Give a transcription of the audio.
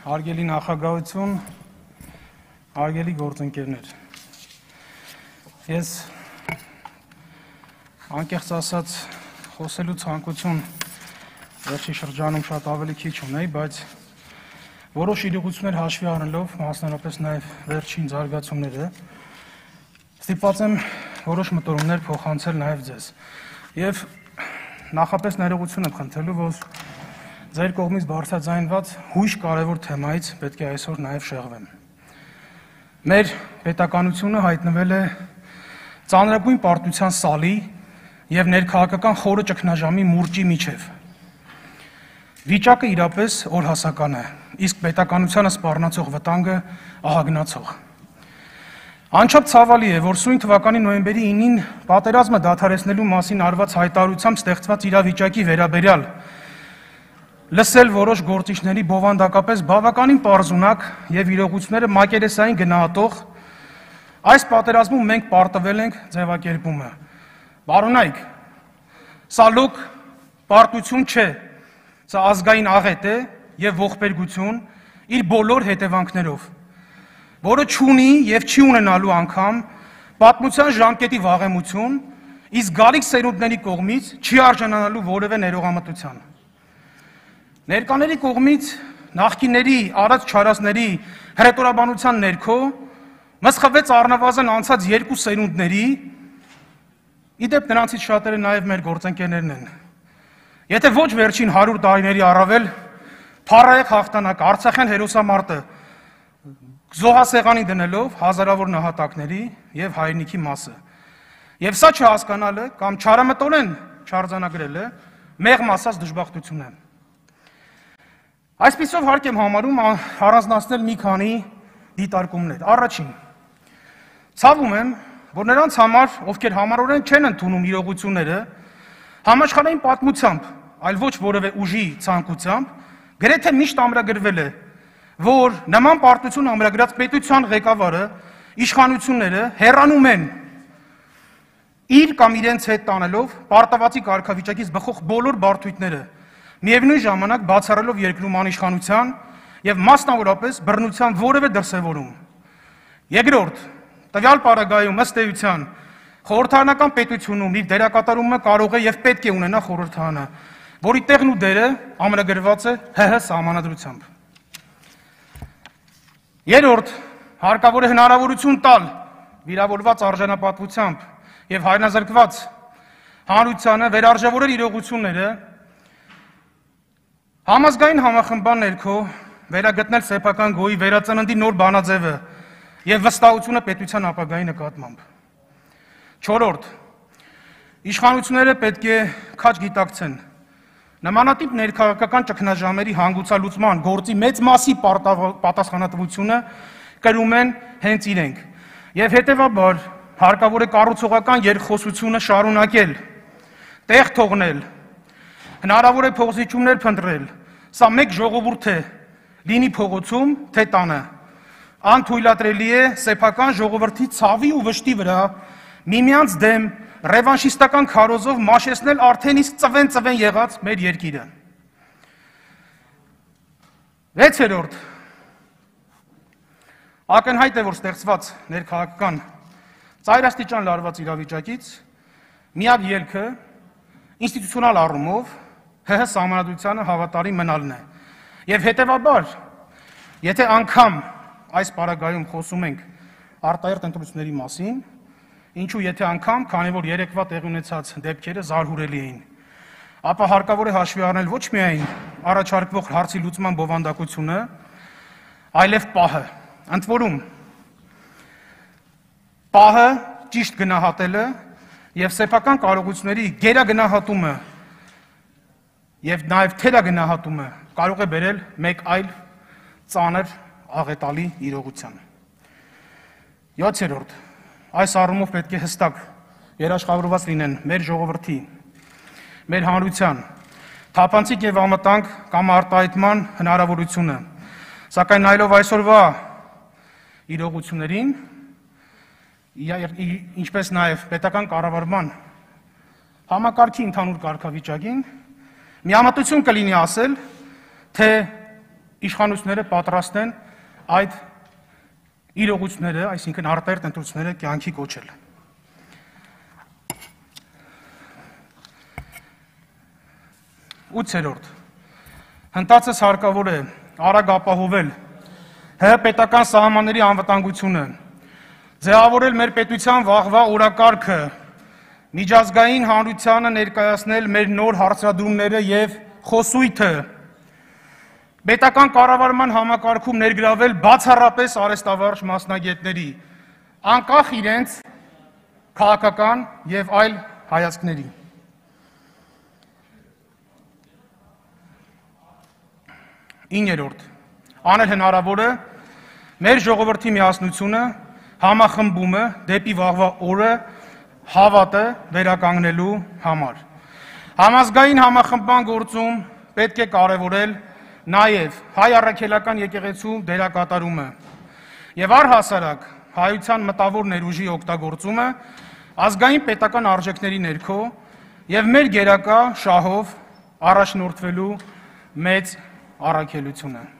Հարգելի նախագահություն, հարգելի գործընկերներ։ Ես անկեղծ ասած խոսելու ցանկություն վերջի շրջանում շատ ավելի քիչ ունեի, բայց որոշ իրողություններ հաշվի առնելով, մասնավորապես նաև վերջին զարգացումները, ստիպված եմ որոշ մտորումներ փոխանցել նաև ձեզ։ Եվ նախապես ներողություն եմ խնդրելու, որ ձեր կողմից բարձրաձայնված հույժ կարևոր թեմայից պետք է այսօր նաև շեղվեմ։ Մեր պետականությունը հայտնվել է ծանրագույն պարտության սալի եւ ներքաղաքական խորը ճգնաժամի մուրճի միջև։ Վիճակը իրապես օրհասական է, իսկ պետականությանը սպառնացող վտանգը ահագնացող։ Անչափ ցավալի է, որ սույն թվականի նոյեմբերի 9-ին պատերազմը դադարեցնելու մասին արված հայտարարությամբ ստեղծված իրավիճակի վերաբերյալ լսել որոշ գործիչների բովանդակապես բավականին պարզունակ եւ իրողությունները մակերեսային գնահատող այս պատերազմում մենք պարտվել ենք ձևակերպումը։ Բարոնայք, սա լոկ պարտություն չէ, սա ազգային աղետ է եւ ողբերգություն իր բոլոր հետևանքներով, որը չունի եւ չի ունենալու անգամ պատմության ժամկետի վաղեմություն, իսկ գալիք սերունդների կողմից չի արժանանալու որևէ ներողամտության։ Ներկաների կողմից նախկինների արած չարածների հրետորաբանության ներքո մսխվեց առնվազն անցած երկու սերունդների, իդեպ նրանցից շատերը նաև մեր գործընկերներն են։ Եթե ոչ վերջին 100 տարիների առավել փառահեղ հաղթանակ Արցախյան հերոսամարտը զոհասեղանի դնելով հազարավոր նահատակների եւ հայրենիքի մասը։ Եվ սա չհասկանալը կամ չարամտորեն չարձանագրելը մեղմ ասած դժբախտություն է։ Այսպիսով հարկ եմ համարում առանձնացնել մի քանի դիտարկումներ։ Առաջին, ցավում եմ, որ նրանց համար, ովքեր համառորեն չեն ընդունում իրողությունները, համաշխարհային պատմությամբ, այլ ոչ որևէ ուժի ցանկությամբ, գրեթե միշտ ամրագրվել է, որ նման պարտություն ամրագրած պետության ղեկավարը, իշխանությունները հեռանում են իր կամ իրենց հետ տանելով պարտավորի կարգավիճակից բխող բոլոր բարդույթները, միևնույն ժամանակ բացառելով երկրում անիշխանության եւ մասնավորապես բռնության որևէ դրսևորում։ Երկրորդ, տվյալ պարագայում ըստ էության խորհրդարանական պետությունում իր դերակատարումը կարող է եւ պետք է ունենա խորհրդարանը, որի տեղն ու դերը ամրագրված է ՀՀ սահմանադրությամբ։ Երրորդ, հարկավոր է հնարավորություն տալ վիրավորված արժանապատվությամբ եւ հայրենազրկված հանրությանը վերարժևորել իրողությունները Համազգային համախմբան ներքո վերագտնել սեփական գոյի վերածննդի նոր բանաձևը եւ վստահությունը պետության ապագայի նկատմամբ։ Չորրորդ, իշխանությունները պետք է քաջ գիտակցեն նմանատիպ ներքաղաքական ճգնաժամերի հանգուցալուծման գործի մեծ մասի պատասխանատվությունը կրում են հենց իրենք եւ հետեւաբար հարկավոր է կառուցողական երկխոսությունը շարունակել, տեղ թողնել, հնարավոր է փոխզիջումներ փնտրել, սա մեկ ժողովուրդ է, լինի փողոցում, թե տանը, անթույլատրելի է սեփական ժողովրդի ցավի ու վշտի վրա միմյանց դեմ ռևանշիստական քարոզով մաշեցնել արդեն իսկ ծվեն եղած մեր երկիրը։ Վեցերորդ, ակնհայտ է, որ ստեղծված ներքաղաքական ծայրաստիճան լարված իրավիճակից միակ ելքը ինստիտուցիոնալ առումով ՀՀ սահմանադրությանը հավատարիմ մնալն է։ Եվ հետևաբար, եթե անգամ այս պարագայում խոսում ենք արտահերթ ընտրությունների մասին, ինչու եթե անգամ, քանի որ երեկվա տեղի ունեցած դեպքերը զարհուրելի էին, ապա հարկավոր է հաշվի առնել ոչ միայն առաջարկվող հարցի լուծման բովանդակությունը, այլև պահը։ Ընդ որում, պահը ճիշտ գնահատելը եւ սեփական կարողությունների գերագնահատումը եւ նաեւ թերագնահատումը կարող է բերել մեկ այլ ծանր աղետալի իրողության։ 7-րդ, այս առումով պետք է հստակ երաշխավորված լինեն մեր ժողովրդի, մեր հանրության թափանցիկ եւ ամտանգ կամ արտահայտման հնարավորությունը, սակայն նայելով այսօրվա իրողություններին, ինչպես նաեւ պետական կառավարման համակարգի ընդհանուր կարգավիճակին, միամտություն կլինի ասել, թե իշխանությունները պատրաստ են այդ իրողությունները, այսինքն արտահերթ ընտրությունները կյանքի կոչել։ Ութերորդ, հնդածս հարկավոր է արագ ապահովել ՀՀ պետական սահմանների անվտանգությունը, ձևավորել մեր պետության վաղվա օրակարգը, միջազգային հանրությանը ներկայացնել մեր նոր հարցադրումները եւ խոսույթը, պետական կառավարման համակարգում ներգրավել բացառապես արհեստավարժ մասնագետների, անկախ իրենց քաղաքական եւ այլ հայացքների։ Իններորդ, անել հնարավորը մեր ժողովրդի միասնությունը, համախմբումը դեպի վաղվա օրը հավատը վերականգնելու համար։ Համազգային համախմբման գործում պետք է կարևորել նաև հայ առաքելական եկեղեցու դերակատարումը եւ առհասարակ հայության մտավոր ներուժի օգտագործումը ազգային պետական արժեքների ներքո եւ մեր գերակա շահով առաջնորդվելու մեծ առաքելությունը։